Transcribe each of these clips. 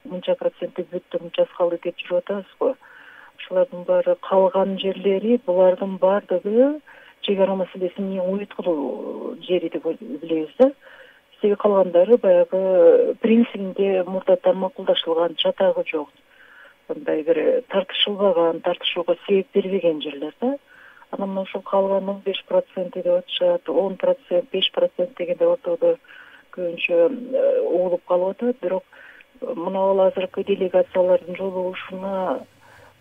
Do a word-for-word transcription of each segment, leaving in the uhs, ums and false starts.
мынча проценти бүттү, мынчасы калды деп жүрүп атабыз го. Ушулардын баары калган жерлери, булардын баардыгы чек ара маселесинин уюткулуу жери деп билебиз да. Себеби калгандары баягы принцибинде мурдатан макулдашылган, жатагы жок, мындай бир тартышылбаган, тартышууга себеп бербеген жерлер да. Анан мына ушул калган он беш проценти деп атышат, он процент, беш процент дегенде ортодо көбүнчө угулуп калып атат. Бирок мына азыркы делегациялардын жолугушуна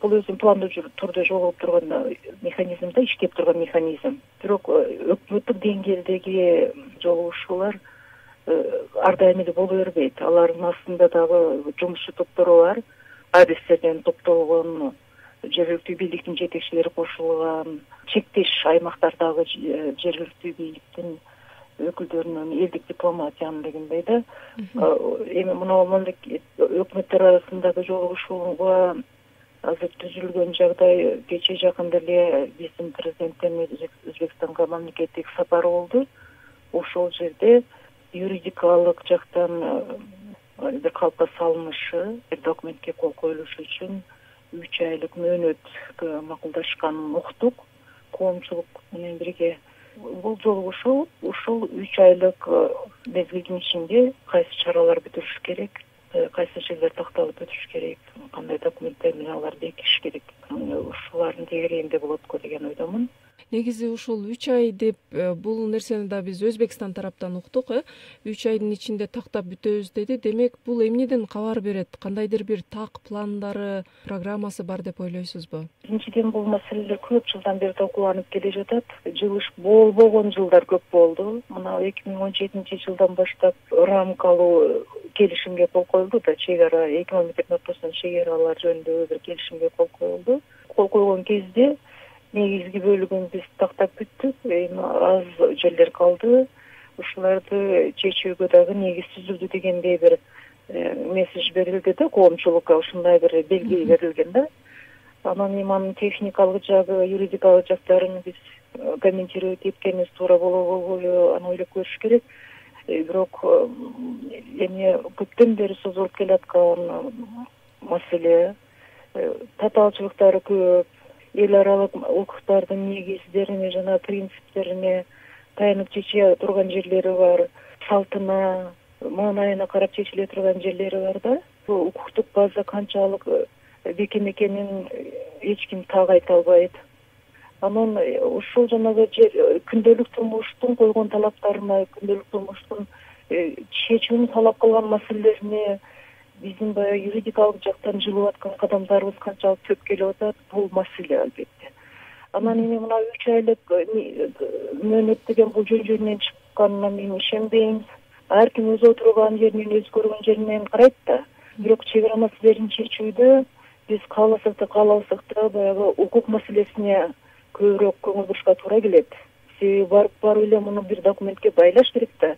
бул өзү пландуу түрдө жолугуп турган механизм да, иштеп турган механизм. Бирок өкмөттүк деңгээлдеги жолугушуулар ар дайым эле боло бербейт. Алардын астында дагы жумушчу топтору бар, адистерден топтолгон, жергиликтүү бийликтин жетекчилери кошулган, чектеш аймактардагы жергиликтүү бийликтин өкүлдөрүнүн, элдик дипломатиянын дегендей да. Эми мына өкмөттөр арасындагы жолугушууга азыр түзүлгөн жагдай, кечээ жакында эле биздин президенттин Өзбекстанга мамлекеттик сапары болду. Ошол жерде юридикалык жактан бир калпка салынышы, бир документке кол коюлушу үчүн үч айлык мөөнөткө макулдашканын уктук, коомчулук менен бирге. Бул жолугушуу ушул үч айлык мезгилдин ичинде кайсы чаралар бүтүрүш керек, кайсы жерлер такталып өтүш керек, кандай документтер менен алар бекитиш керек, ушулардын тегерегинде болот го деген ойдомун. Негизи ушул үч ай деп бул нерсени да биз Өзбекстан тараптан уктук, э үч айдын ичинде тактап бүтөбүз деди. Демек, бул эмнеден кабар берет? Кандайдыр бир так пландары, программасы бар деп ойлойсузбу? Биринчиден, бул маселелер көп жылдан бери талкууланып келе жатат. Жылыш болбогон жылдар көп болду. Мына эки миң он жетинчи жылдан баштап рамкалуу келишимге кол коюлду да, чек ара эки мамлекеттин ортосунда чек аралар жөнүндө бир келишимге кол коюлду. Кол койгон кезде негизги бөлүгүн биз тактап бүттүк, эми аз жерлер калды. Ушуларды чечүүгө дагы негиз түзүлдү дегендей бир месседж берилди да, коомчулукка ушундай бир белги берилген да. Анан эми анын техникалык жагы, юридикалык жактарын биз комментировать эткенибиз туура болобу, болбойбу, аны ойлоп көрүш керек. Бирок эми көптөн бери созулуп келаткан маселе, татаалчылыктары көп, эл аралык укуктардын негиздерине жана принциптерине таянып чече турган жерлери бар, салтына, маанайына карап чечиле турган жерлери бар да. Бул укуктук база канчалык бекем экенин эч ким так айта албайт. Анан ушул жанагы күндөлүк турмуштун койгон талаптарына, күндөлүк турмуштун чечүүнү талап кылган маселелерине биздин баягы юридикалык жактан жылып аткан кадамдарыбыз канчалык көп келип атат, бул маселе албетте. Анан эми мына үч айлык мөөнөт деген бул жөн-жөнүнөн чыкканына мен ишенбейм. Ар ким өз отурган жеринен, өз көргөн жеринен карайт да. Бирок чек ара маселелерин чечүүдө биз кааласак да, каалабасак да баягы укук маселесине көбүрөөк көңүл бурушка туура келет. Себеби барып барып эле муну бир документке байлаш керек да.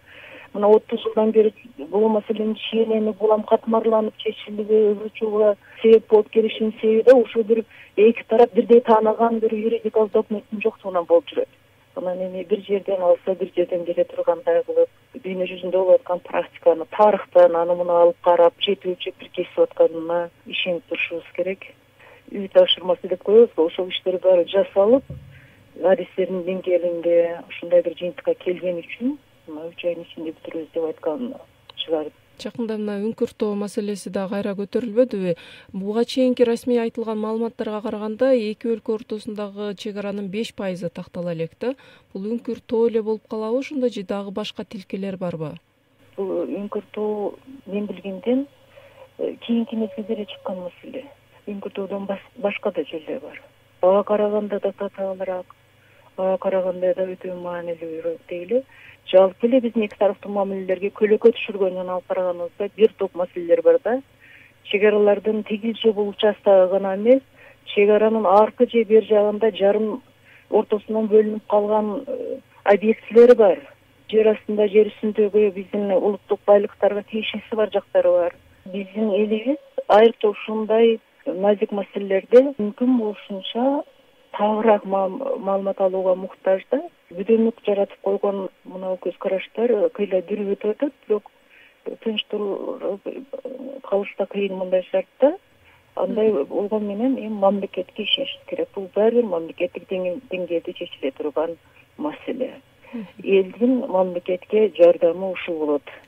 Мына отуз жылдан бери бул маселенин чийенени булам катмарланып чечилүүгө себеп болуп келишинин себеби да ушул бир эки тарап бирдей тааныган бир юридикалык документтин жоктугунан болуп жүрөт. Анан эми бир жерден алса, бир жерден келе тургандай кылып, дүйнө жүзүндө болуп аткан практиканы, тарыхтан аны муну алып карап, жетүүчү бир кесип атканына ишенип турушубуз керек. Үй тапшырмасы деп коебуз го, ошол иштер баары жасалып, адистердин деңгээлинде ушундай бир жыйынтыкка келген үчүн үч айдын ичинде бүтүрөбүз деп айткан чыгар. Жакында мына үңкүртөө маселеси да кайра көтөрүлбөдүбү? Буга чейинки расмий айтылган маалыматтарга караганда эки өлкө ортосундагы чек аранын беш пайызы тактала элек да. Бул үңкүртөө эле болуп калабы ошондо же дагы башка тилкелер барбы? Бул үңкүртөө мен билгенден кийинки мезгилде эле чыккан маселе. Үңкүртөөдөн башка да жерлер бар. Ага караганда да татаалыраак, ага караганда да өтө маанилүүрөөк дейли. Жалпы эле биздин эки тараптуу мамилелерге көлөкө түшүргөнүнөн алып караганыбызда бир топ маселелер бар да. Чек аралардын тигил же бул участогу гана эмес, чек аранын аркы же бер жагында жарым ортосунан бөлүнүп калган объектилери бар. Жер астында, жер үстүндөгү биздин улуттук байлыктарга тиешеси бар жактары бар. Биздин элибиз айрыкча ушундай назик маселелерде мүмкүн болушунча тагыраак маалымат алууга муктаж да. Бүдөнлүк жаратып койгон мына көз караштар кыйла дүрүп өтүп атат, бирок тынч калыш да кыйын мындай шартта. Андай болгон менен эми мамлекетке ишениш керек. Бул баары бир мамлекеттик деңгээлде чечиле турган маселе. Элдин мамлекетке жардамы ушул болот.